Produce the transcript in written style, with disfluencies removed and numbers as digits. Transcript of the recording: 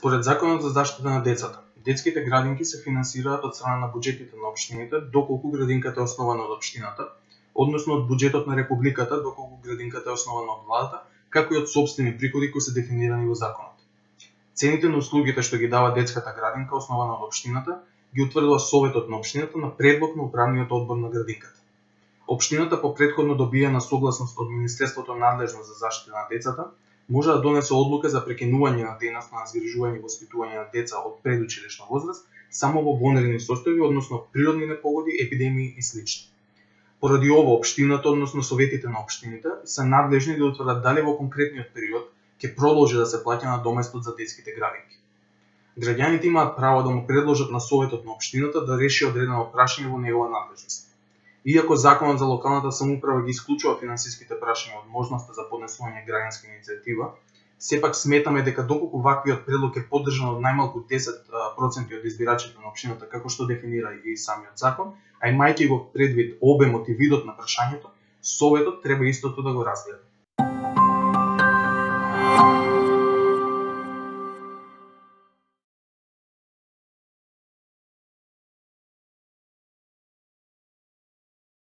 Според Законот за заштита на децата, детските градинки се финансираат од страна на буџетите на општините доколку градинката е основана од општината, односно од буџетот на Републиката доколку градинката е основана од владата, како и од сопствени приходи кои се дефинирани во законот. Цените на услугите што ги дава детската градинка основана од општината ги утврдува Советот на општината на предлог на управниот одбор на градинката. Општината по претходно добиена согласност од Министерството надлежно за заштита на децата може да донесе одлука за прекинување на дејноста на згрижување и воспитување на деца од предучилишна возраст само во вонредни состојби, односно природни непогоди, епидемии и слични. Поради ова, општината, односно советите на општините, се надлежни да утврдат дали во конкретниот период ќе продолжи да се плаќа на доместот за детските градинки. Граѓаните имаат право да му предложат на Советот на општината да реши одредено прашање во негова надлежност. Иако Законот за локалната самоуправа ги исклучува финансиските прашања од можноста за поднесување граѓанска иницијатива, сепак сметаме дека доколку ваквиот предлог е поддржан од најмалку 10% од избирачите на општината, како што дефинира и самиот закон, а имајќи го предвид обемот и видот на прашањето, Советот треба истото да го разгледа.